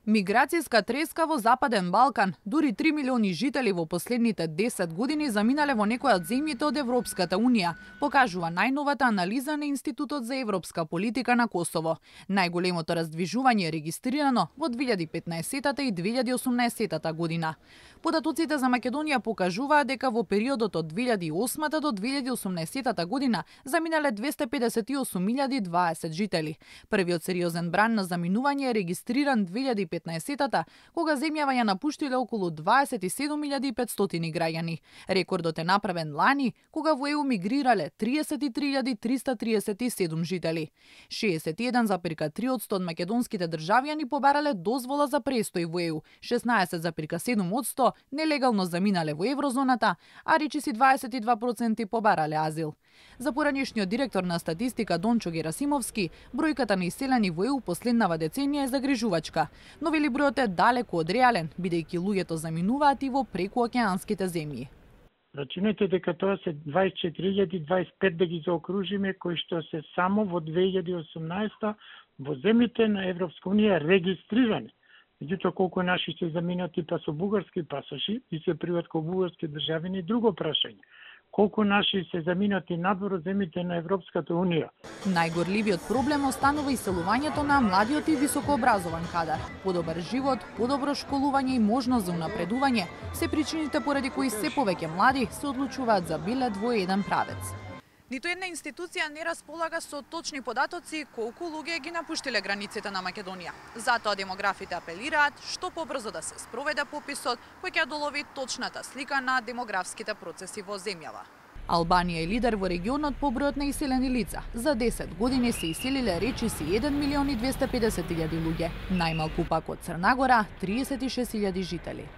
Миграцијска треска во Западен Балкан. Дури 3 милиони жители во последните 10 години заминале во некоја од земјите од Европската Унија, покажува најновата анализа на Институтот за европска политика на Косово. Најголемото раздвижување е регистрирано во 2015 и 2018 година. Податоците за Македонија покажуваат дека во периодот од 2008 до 2018 година заминале 258.020 жители. Првиот сериозен бран на заминување е регистриран 2015-та, кога земјава ја напуштиле околу 27.500 граѓани. Рекордот е направен лани, кога во ЕУ мигрирале 33.337 жители. 61,3% од македонските државјани побарале дозвола за престој во ЕУ, 16,7% нелегално заминале во еврозоната, а речиси 22% побарале азил. За поранешниот директор на статистика Дончо Герасимовски, бројката на иселени во ЕУ последнава деценија е загрижувачка, но вели бројот е далеку од реален, бидејќи луѓето заминуваат и во прекуокеанските земји. Рачунете дека тоа се 24.025 да ги заокружиме, кои што се само во 2018 во земјите на Европска Унија регистрирани. Меѓутоа колку наши се заминати па со бугарски пасоши и се приват кај бугарски државјани, друго прашање. Колку наши се заминати надвор од земјите на Европската Унија. Најгорливиот проблем останува иселувањето на младиот и високообразован кадар. Подобар живот, подобро школување и можност за унапредување се причините поради кои се повеќе млади се одлучуваат за билет во еден правец. Ниту една институција не располага со точни податоци колку луѓе ги напуштиле границите на Македонија. Затоа демографите апелираат што побрзо да се спроведе пописот кој ќе долови точната слика на демографските процеси во земјава. Албанија е лидер во регионот по бројот на иселени лица. За 10 години се иселиле речиси 1.250.000 луѓе, најмалку пак од Црна Гора 36.000 жители.